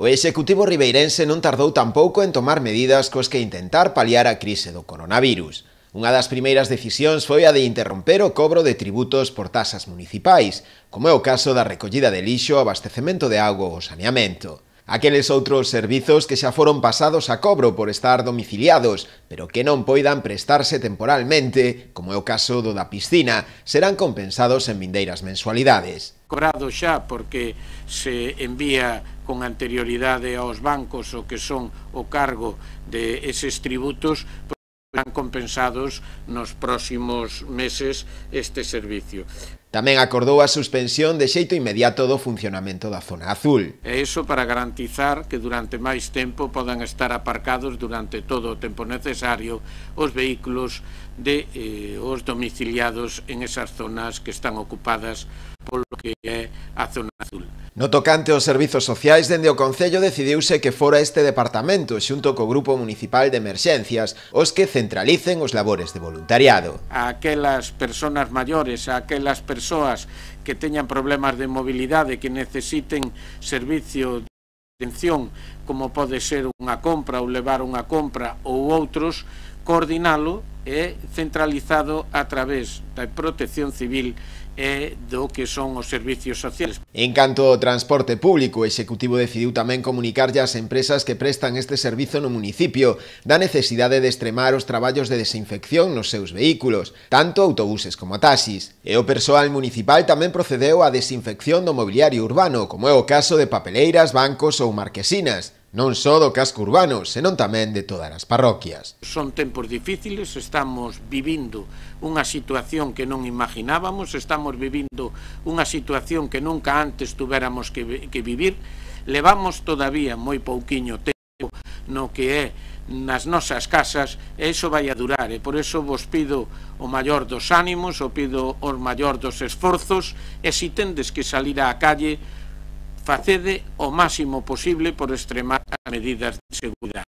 O executivo ribeirense non tardou tampouco en tomar medidas cos que intentar paliar a crise do coronavirus. Unha das primeiras decisións foi a de interromper o cobro de tributos por tasas municipais, como é o caso da recollida de lixo, abastecemento de auga ou saneamento. Aqueles outros servizos que xa foron pasados a cobro por estar domiciliados, pero que non poidan prestarse temporalmente, como é o caso do da piscina, serán compensados en vindeiras mensualidades. Cobrado xa porque se envía con anterioridade aos bancos o que son o cargo de eses tributos, serán compensados nos próximos meses este servicio. Tamén acordou a suspensión de xeito inmediato do funcionamento da zona azul. E iso para garantizar que durante máis tempo podan estar aparcados durante todo o tempo necesario os vehículos de os domiciliados en esas zonas que están ocupadas polo que é a zona azul. No tocante aos servizos sociais, dende o Concello decidiuse que fora este departamento, xunto co Grupo Municipal de Emerxencias, os que centralicen os labores de voluntariado. A aquelas persoas maiores, a aquelas persoas que teñan problemas de mobilidade, que necesiten servicio de atención, como pode ser unha compra ou levar unha compra ou outros, coordinalo e centralizado a través da Protección Civil e do que son os servicios sociais. En canto ao transporte público, o Executivo decidiu tamén comunicarlle ás empresas que prestan este servizo no municipio da necesidade de extremar os traballos de desinfección nos seus vehículos, tanto autobuses como taxis. E o persoal municipal tamén procedeu á desinfección do mobiliario urbano, como é o caso de papeleiras, bancos ou marquesinas, non só do casco urbano, senón tamén de todas as parroquias. Son tempos difíciles, estamos vivindo unha situación que non imaginábamos, estamos vivindo unha situación que nunca antes tuveramos que vivir, levamos todavía moi pouquiño tempo no que é nas nosas casas e iso vai a durar, e por iso vos pido o maior dos ánimos, o pido o maior dos esforzos, e se tendes que salir á calle, facede o máximo posible por extremar as medidas de seguridade.